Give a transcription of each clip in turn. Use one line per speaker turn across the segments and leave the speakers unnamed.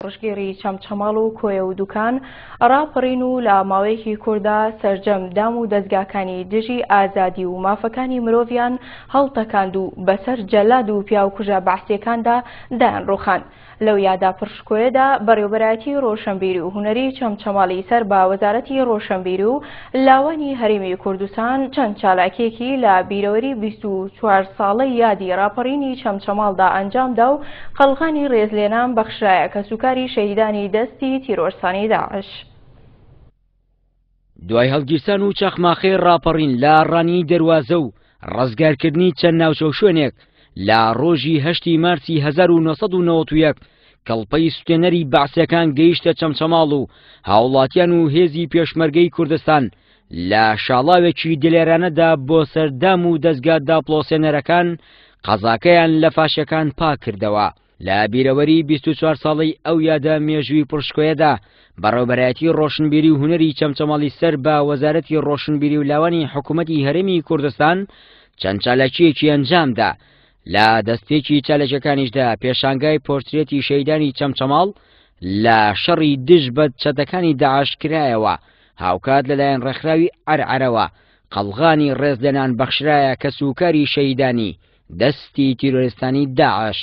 شۆڕشگێڕی چەمچەماڵ و کۆیە و دوکان ڕاپەڕین و لە ماوەیەکی کورتدا سەرجەم دام و دەزگاکانی دژی ئازادی و مافەکانی مرۆڤیان هەڵتەکاند و بەسەر جەلاد و پیاوکوژە بەعسیەکاندا دایانڕوخاند. لەو یادە پڕشکۆیەدا بەڕێوبەرایەتی ڕۆشنبیری و هونەری چەمچەماڵی سەر بە وەزارەتی ڕۆشنبیری و لاوانی هەرێمی کوردستان چەند چالاکیەکی لە بیرەوەری 24 ساڵەی یادی ڕاپەڕینی چەمچەماڵدا ئەنجامدا و قەڵغانی ڕێزلێنان بەخشرایە کەسوکاری شەهیدانی دەستی تیرۆرستانی داعش.
دوای هەڵگیرسان و چەخماخەی ڕاپەڕین لە ڕانیەی دەروازە و ڕزگارکردنی چەند ناوچە و شوێنێک لە ڕۆژی هەشتی مارسی 1991 کڵپەی سوتێنەری بەعسیەکان گەیشتە چەمچەماڵ و هاوڵاتیان و هێزی پێشمەرگەی کوردستان لە شاڵاوێکی دلێرانەدا بۆ سەر دام و دەزگا داپڵۆسێنەرەکان قەزاکەیان لە فاشەکان پاک کردەوە. لە بیرەوەری 24 ساڵەی ئەو یادە مێژووی پڕشکۆیەدا بەڕێوبەرایەتی ڕۆشنبیری و هونەری چەمچەماڵی سەر بە وەزارەتی ڕۆشنبیری و لاوانی حکوومەتی هەرێمی کوردستان چەند چالاکییەکی ئەنجامدا لە دەستپێکی چالاکیەکانیشدا پێشانگای پۆرترێتی شەیدانی چەمچەماڵ لە شەڕی دژ بە چەتەکانی داعش کرایەوە هاوکات لەلایەن ڕێکخراوی عەرعەرەوە قەڵغانی ڕێزلێنان بەخشرایە کەسوکاری شەهیدانی دەستی تیرۆریستانی داعش.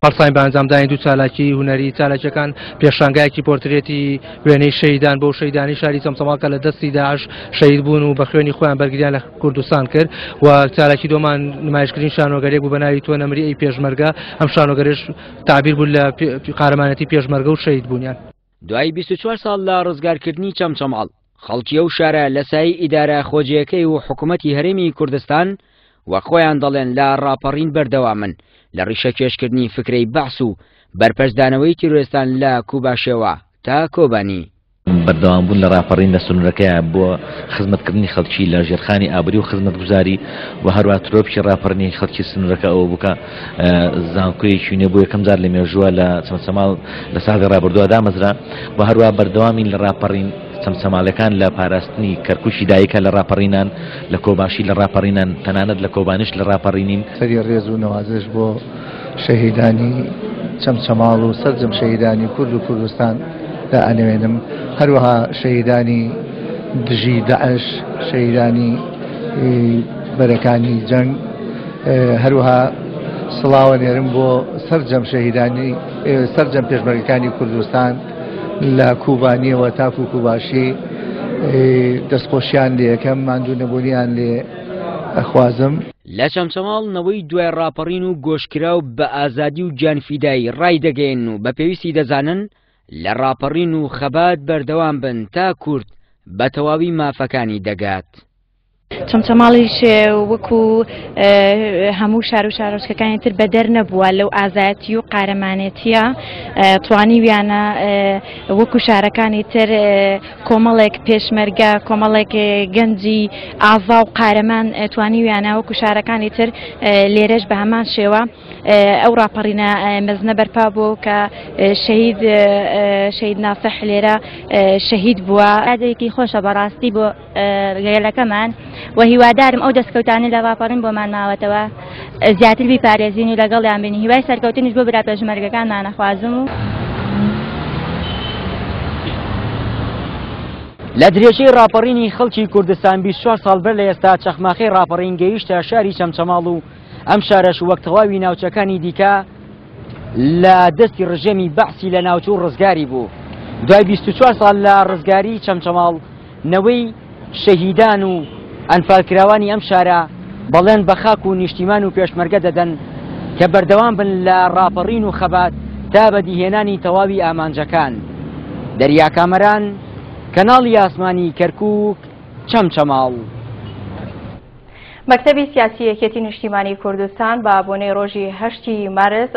هەڵساین بە ئەنجامدانی دوو چالاکی هونەری، چالاکیەکان پێشانگایەکی پۆرترێتی وێنەی شەهیدان بۆ شەهیدانی شاری چەمچەماڵ کە لە دەستی داعش شەهید بوون و بە خوێنی خۆیان بەرگریان لە کوردستان کرد و چالاکی دۆمان نمایشکردنی شانۆگەرێک بوو بە ناوی تۆ نەمری ئەی پێشمەرگە، ئەم شانۆگەرێش تعبیر بوو لە قارەمانەتی پێشمەرگە و شەهید بوونیان.
دوای 24 ساڵ لە ڕزگارکردنی چەمچەماڵ، خەڵکی ئەو شارە لە سایەی ئیدارە خۆجێیەکەی و حکوومەتی هەرێمی کوردستان وەک خۆیان دەڵێن لە ڕاپەڕین بەردەوامن لە ڕیشەکێشکردنی فکرەی بەعس و بەرپەرچدانەوەی تیرۆرستان لە کوباشێوە تا کۆبانی.
بەردەوامبوون لە ڕاپەڕین لە سنوورەکەیا بۆ خزمەتکردنی خەڵکی لە ژێرخانی ئابووری و خزمەتگوزاری و هەروەها ترۆپکی ڕاپەڕینی خەڵکی سنوورەکە ئەوە بوو کە زانکۆیەکی نوێ بۆ یەکەم جار لە مێژووە لە چەمچەماڵ لە ساڵی ڕابردووە دامەزرا و هەروەها بەردەوامین لە ڕاپەڕین چەمچەماڵەکان لە پاراستنی کەرکوکی دایکە لە ڕاپەڕینان لە کۆباشی لە ڕاپەڕینان تەنانەت لە کۆبانیش لە ڕاپەڕینین.
سەری ڕێز و نەوازش بۆ شەهیدانی چەمچەماڵ و سەرجەم شەهیدانی کورد و کوردستان دائەنەوێنم، هەروەها شەهیدانی دژی داعش، شەهیدانی بەرەکانی جەنگ، هەروەها سڵاوە نێرم بۆ سەرجەم شەهیدانی سەرجەم پێشمەرگەکانی کوردستان لە کوبانیەوە تاکو کوباشی دەستخۆشیان لێ یەکەم ماندوو نەبوونیان لێ ئەخوازم.
لە چەمچەماڵ نەوەی دوای ڕاپەڕین و گۆشکراو بە ئازادی و گیانفیدایی ڕایدەگەیەنن و بە پێویستی دەزانن لە ڕاپەڕین و خەبات بەردەوام بن تا کورد بە تەواوی مافەکانی دەگات.
چەمچەماڵیش وەکو هەموو شار و شارۆچکەکانی تر بەدەر نەبووە لەو ئازایەتی و قارەمانێتیە توانیویانە وەکو شارەکانی تر کۆمەڵێک پێشمەرگە کۆمەڵێک گەنجی ئازا و قارەمان توانیویانە وەکو شارەکانی تر لێرەش بە هەمان شێوە ئەو ڕاپەڕینە مەزنە بەرپا بوو کە شەهید شەهید ناسح لێرە شەهید بووە. یادێکی خۆشە بەڕاستی بۆ گەلەکەمان و هیوادارم ئەو دەستکەوتانەی لە ڕاپەڕین بۆمان ماوەتەوە زیاتر بیپارێزین و لەگەڵیان بین هیوای سەرکەوتنیش بۆ برا پێشمەرگەکانمان ئەخوازم و.
لە درێژەی ڕاپەڕینی خەڵکی کوردستان 24 ساڵ بەر لە ئێستا چەخماخەی ڕاپەڕین گەیشتە شاری چەمچەماڵ و ئەم شارەش وەک تەواوی ناوچەکانی دیکە لە دەستی ڕژێمی بەعسی لە ناوچوو ڕزگاری بوو. دوای 24 ساڵ لە ڕزگاری چەمچەماڵ نەوەی شەهیدان و ئەنفالکراوانی ئەم شارە بەڵێن بە خاک و نیشتیمان و پێشمەرگە دەدەن کە بەردەوام بن لە ڕاپەڕین و خەبات تا بەدیهێنانی تەواوی ئامانجەکان. دەریا کامەران، کەناڵی ئاسمانی کەرکووک، چەمچەماڵ.
مەکتەبی سیاسی یەکێتی نیشتیمانی کوردستان بە بۆنەی ڕۆژی هەشتی مارس.